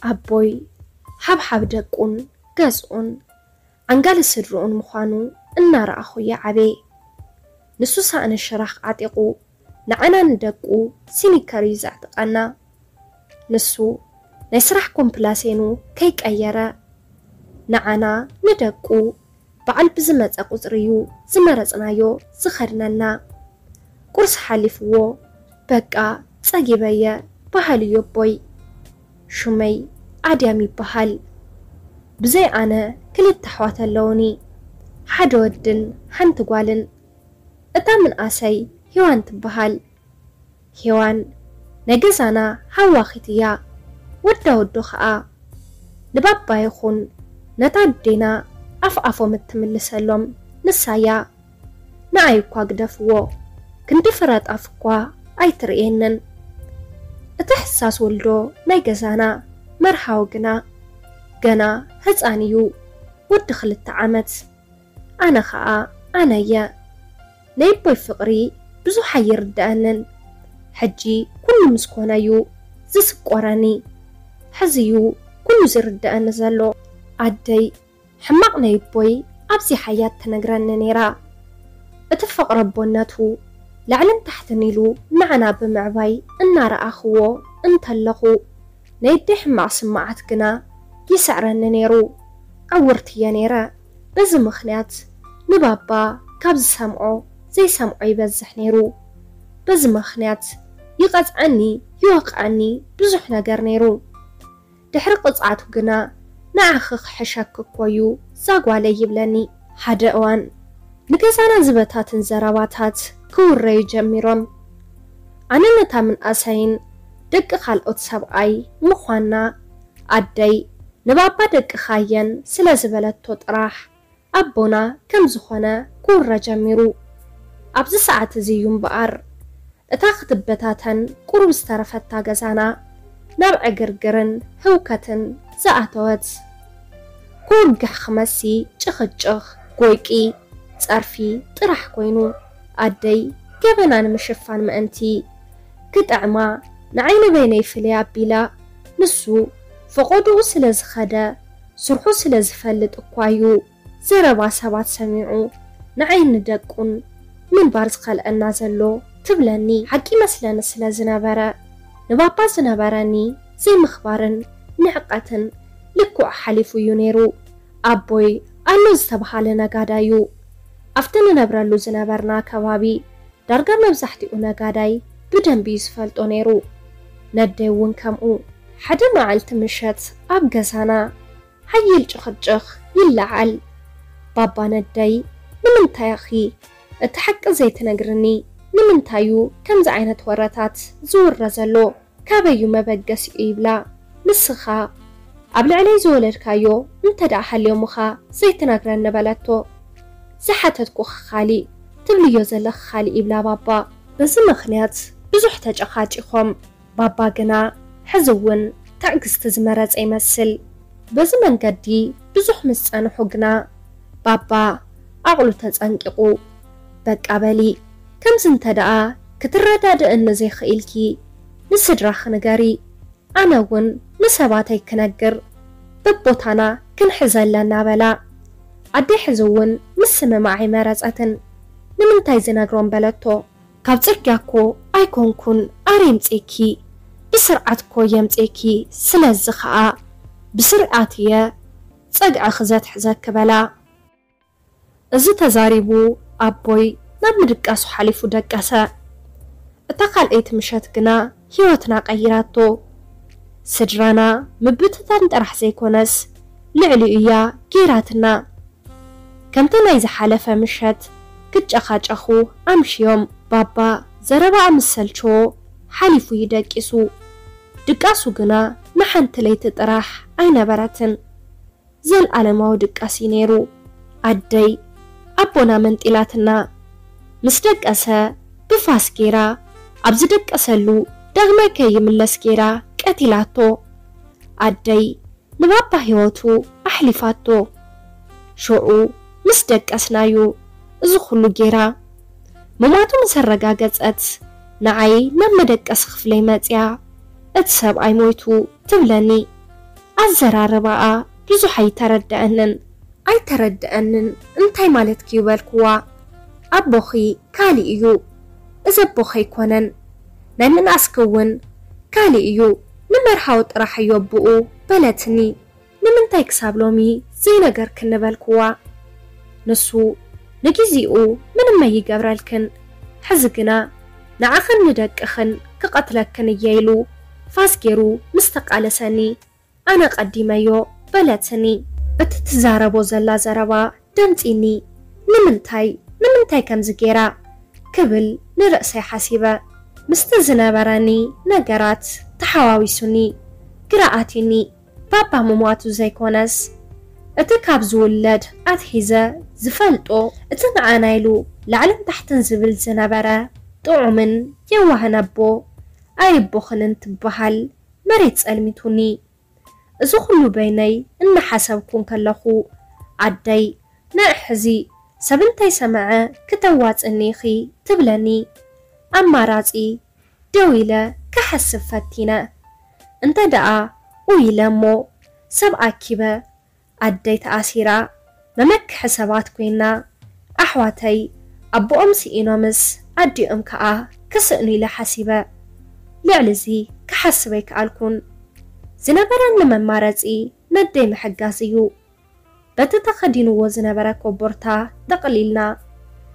ኣቦይ ሓብሓብ ደቁን ገዝኡን ዓንጋሊ ስድርኡን ምዃኑ እናረኣኹ እየ ዓብየ። ንሱ ሳእኒ ሽራኽ ዓጢቑ ንዓና ንደቁ ሲኒከር እዩ ዘዕጥቐና። ንሱ ናይ ስራሕ ኮምፕላሴኑ ከይቀየረ ንዓና ንደቁ በዓል ብዝመጸ ቁጽሪ እዩ ዝመረጽናዮ ዝኸድነና። ቁርሲ ሓሊፍዎ በቃ ጸጊበየ በሃሊ እዩ ኣቦይ። ሹመይ ኣድያም ይበሃል። ብዘይ ኣነ ክልተ ኣሕዋት ኣለውኒ፣ ሓደ ወድን ሓንቲ ጓልን። እታ ምንኣሰይ ሄዋን ትበሃል። ሄዋን ናይ ገዛና ሃዋኺት እያ። ወዳ ወዶ ኸኣ ንባባ ይኹን ነታ ኣዴና ኣፍ ኣፎም እትምልሰሎም ንሳ እያ። ንኣይ እኳ ግደፍዎ፣ ክንዲ ፍረ ጣፍ እኳ ኣይትርእየንን። እቲ ሕሳስ ወልዶ ናይ ገዛና መርሃዊ ግና ገና ህጻን እዩ፣ ወዲ ክልተ ዓመት። ኣነ ኸኣ ኣነ እየ። ናይ ኣቦይ ፍቕሪ ብዙሕ ኣይርድኣንን። ሕጂ ኩሉ ምስ ኮነ እዩ ዝስቆረኒ። ሕዚ እዩ ኩሉ ዝርድኣኒ ዘሎ። ኣደይ ሕማቕ ናይ ኣቦይ ኣብዚሓ እያ ትነግረኒ ነይራ። እቲ ፍቕሪ ኣቦነቱ ላዕልን ታሕትን ኢሉ ንዓና ብምዕባይ እናረኣኽዎ እንተለኹ ናይ ኣደይ ሕማቕ ስምዓት ግና ይስዕረኒ ነይሩ። ዕውርቲ እየ ነይረ። በዚ ምኽንያት ንባባ ካብ ዝሰምዖ ዘይሰምዖ ይበዝሕ ነይሩ። በዚ ምኽንያት ይቐጽዓኒ፣ ይወቕዓኒ ብዙሕ ነገር ነይሩ። ድሕሪ ቅጽዓቱ ግና ንዓኺ ክሕሸኪ እኮ እዩ ዛጓለይ ይብለኒ። ሓደ እዋን ንገዛና ዝበታትን ዘረባታት ክውረዩ ጀሚሮም። ኣነ ነታ ምንኣሰይን ደቂ ካልኦት ሰብኣይ ምዃንና ኣደይ ንባባ ደቅኻ እየን ስለ ዝበለቶ ጥራሕ ኣቦና ከም ዝኾነ ክውረ ጀሚሩ። ኣብዚ ሰዓት እዚ እዩ እምበኣር እታ ክትበታተን ቁሩብ ዝተረፈታ ገዛና ናብ ዕግርግርን ህውከትን ዝኣተወት። ክወግሕ ክመሲ ጭኽጭኽ፣ ጎይቂ፣ ጸርፊ ጥራሕ ኮይኑ። ኣደይ ገበና ንምሽፋን ምእንቲ ክጥዕማ ንዓይ ንበይነይ ፍልይ ኣቢላ፣ ንሱ ፈቖድኡ ስለ ዝኸደ ስርሑ ስለ ዝፈልጥ እኳ እዩ ዘረባ ሰባት ሰሚዑ ንዓይ ንደቁን ምንባር ዝኸልአና ዘሎ ትብለኒ። ሓቂ መስለኒ ስለ ዝነበረ ንባባ ዝነበረኒ ዘይምኽባርን ንዕቀትን ልክዑ ሓሊፉ እዩ ነይሩ። ኣቦይ ኣሎ ዝተብሃለ ነጋዳይ እዩ። ኣብቲ ንነብረሉ ዝነበርና ከባቢ ዳርጋ መብዛሕትኡ ነጋዳይ ብደንቢ እዩ ዝፈልጦ ነይሩ። ነደይ እውን ከምኡ። ሓደ መዓልቲ ምሸት ኣብ ገዛና ሓይል ጭኽጭኽ ይለዓል። ባባ ነደይ፣ ንምንታይ ኢኺ እቲ ሓቂ ዘይትነግርኒ? ንምንታይ እዩ ከምዚ ዓይነት ወረታት ዝውረ ዘሎ? ካበይ እዩ መበገሲኡ? ይብላ። ንስኻ ኣብ ልዕለይ ዝወለድካዮ እንተ ደኣ ሃልዮምኻ ዘይትነግረኒ በለቶ። ዝሓተትኩኺ ካሊእ፣ ትብልዮ ዘለኺ ካሊእ ይብላ ባባ። በዚ ምኽንያት ብዙሕ ተጨቓጪኾም። ባባ ግና ሕዚ እውን ትዕግስቲ ዝመረጸ ይመስል። በዚ መንገዲ ብዙሕ ምስ ጸንሑ ግና ባባ ዓቕሉ ተጸንቂቑ። በቃ በሊ፣ ከምዚ እንተ ደኣ ክትረዳድእኒ ዘይኽኢልኪ ንስድራኺ ንገሪ፣ ኣነ እውን ንሰባተይ ክነግር በቦታና ክንሕዘ ኣለና በላ። ኣደይ ሕዚ እውን ምስምማዕ ኣይመረጸትን። ንምንታይ ዝነግሮም በለቶ። ካብ ጽርግያ እኮ ኣይኮንኩን ኣረ የምጽኤኪ፣ ብስርዓት እኮ የምጽኤኪ። ስለዚ ኸኣ ብስርዓት እየ ጸግዕኺ ዘትሕዘኪ በላ። እዚ ተዛሪቡ ኣቦይ ናብ ምድቃሱ ሓሊፉ ደቀሰ። እታ ካልኣይቲ ምሸት ግና ህይወትና ቀይራቶ። ስድራና ምብትታን ጥራሕ ዘይኮነስ ልዕሊኡ እያ ገይራትና። ከምቲ ናይ ዝሓለፈ ምሸት ክጨኻጨኹ ኣምሽዮም። ባባ ዘረባኣ ምስ ሰልቸዎ ሓሊፉ እዩ ደቂሱ። ድቃሱ ግና ንሓንቲ ለይቲ ጥራሕ ኣይነበረትን። ዘልኣለማዊ ድቃስ እዩ ነይሩ። ኣደይ ኣቦና መንጢላትና። ምስ ደቀሰ ብፋስ ገይራ ኣብ ዝደቀሰሉ ዳግማይ ከይምለስ ገይራ ቀቲላቶ። ኣደይ ንባባ ህይወቱ ኣሕሊፋቶ። ሽዑ ምስ ደቀስናዩ እዚ ኩሉ ገይራ። ምሟቱ ምስ ኣረጋገጸት ንዓይ ናብ መደቀሲ ክፍለይ መጽያ፣ እቲ ሰብኣይ ሞይቱ ትብለኒ። ኣዘራርባኣ ብዙሕ ኣይተረደኣንን። ኣይተረደኣንን፣ እንታይ ማለትኪ እዩ በልክዋ። ኣቦኺ ካሊእ እዩ። እዚ ኣቦኺ ኣይኮነን። ናይ ምንኣስኪ እውን ካሊእ እዩ። ንመርሃዊ ጥራሕ እዩ ኣቦኡ በለትኒ። ንምንታይ ክሳብ ሎሚ ዘይነገርክኒ በልክዋ። ንሱ ንግዜኡ ምንም ኣይገብረልክን። ሕዚ ግና ንዓኽን ንደቅኽን ክቐትለክን እየ ኢሉ ፋስ ገይሩ ምስ ተቃለሰኒ፣ ኣነ ቀዲመዮ በለትኒ። እቲ ትዛረቦ ዘላ ዘረባ ደንጺኒ። ንምንታይ፣ ንምንታይ ከምዚ ገይራ ክብል ንርእሰይ ሓሲበ። ምስቲ ዝነበረኒ ነገራት ተሓዋዊሱኒ፣ ግራ ኣትዩኒ። ባባ ምሟቱ ዘይኮነስ፣ እቲ ካብ ዝውለድ ኣትሒዘ ዝፈልጦ፣ እቲ ንዓና ኢሉ ላዕልን ታሕትን ዝብል ዝነበረ ጥዑምን የዋህን ኣቦ፣ ኣይቦኽን እንትበሃል መሬት ጸልሚቱኒ። እዚ ኩሉ በይነይ እናሓሰብኩ እንከለኹ፣ ኣደይ፣ ንዕ ሕዚ ሰብ እንተይሰምዐ ክተዋጽእኒ ኢኺ ትብለኒ። ኣማራጺ ደው ኢለ ክሓስብ ፈቲነ። እንተ ደኣ ኡይ ኢለ እሞ ሰብ ኣኪበ፣ ኣደይ ተኣሲራ፣ መመክሒ ሰባት ኮይና፣ ኣሕዋተይ ኣቦኦም ስኢኖምስ ኣዲኦም ከኣ ክስእኑ ኢለ ሓሲበ። ልዕሊ እዚ ክሓስብ ኣይከኣልኩን። ዝነበረኒ መማረጺ ነደይ ምሕጋዝ እዩ። በቲ ተኸዲንዎ ዝነበረ ኮቦርታ ጠቕሊልና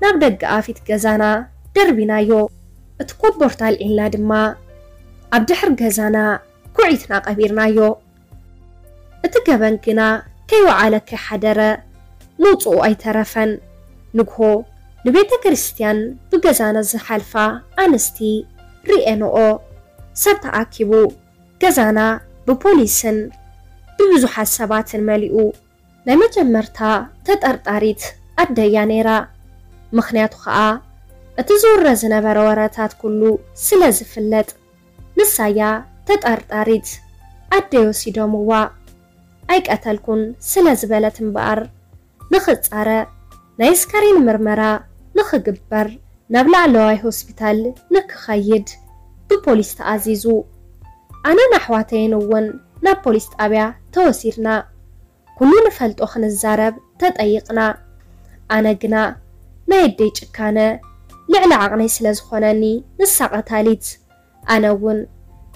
ናብ ደገ ኣፊት ገዛና ደርቢናዮ። እቲ ኮቦርታ ኣልዒልና ድማ ኣብ ድሕር ገዛና ኩዒትና ቀቢርናዮ። እቲ ገበን ግና ከይወዓለ ከይሓደረ ምውጽኡ ኣይተረፈን። ንግሆ ንቤተ ክርስቲያን ብገዛና ዝሓልፋ ኣንስቲ ርእየንኦ። ሰብ ተኣኪቡ። ገዛና ብፖሊስን ብብዙሓት ሰባትን መሊኡ። ናይ መጀመርታ ተጠርጣሪት ኣደያ ነይራ። ምኽንያቱ ኸኣ እቲ ዝውረ ዝነበረ ወረታት ኩሉ ስለ ዝፍለጥ፣ ንሳያ ተጠርጣሪት። ኣደይ ወሲዶምዋ። ኣይቀተልኩን ስለ ዝበለት እምበኣር፣ ንኽጻረ ናይ ኣስከሬን ምርመራ ንኽግበር ናብ ላዕለዋይ ሆስፒታል ንክኸይድ ብፖሊስ ተኣዚዙ። ኣነን ኣሕዋተይን እውን ናብ ፖሊስ ጣብያ ተወሲድና። ኩሉ ንፈልጦ ክንዛረብ ተጠይቕና። ኣነ ግና ናይ ኣደይ ጭካነ ልዕሊ ዓቕነይ ስለ ዝኾነኒ፣ ንሳ ቀታሊት፣ ኣነ እውን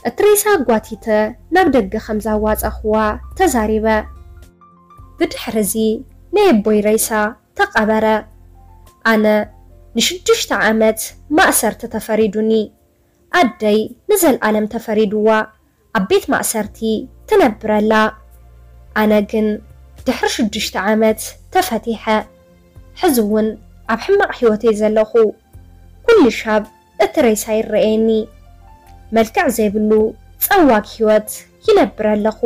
እቲ ሬሳ ኣጓቲተ ናብ ደገ ከም ዛዋጸኽዋ ተዛሪበ። ብድሕሪ እዚ ናይ ኣቦይ ሬሳ ተቐበረ። ኣነ ንሽዱሽተ ዓመት ማእሰርቲ ተፈሪዱኒ። ኣደይ ንዘልኣለም ተፈሪድዋ ኣብ ቤት ማእሰርቲ ትነብር ኣላ። ኣነ ግን ድሕሪ ሽዱሽተ ዓመት ተፈቲሐ። ሕዚ እውን ኣብ ሕማቕ ህይወት እየ ዘለኹ። ኩሉ ሻብ እቲ ሬሳ ይረኣየኒ። መልክዕ ዘይብሉ ጸዋግ ህይወት ይነብር ኣለኹ።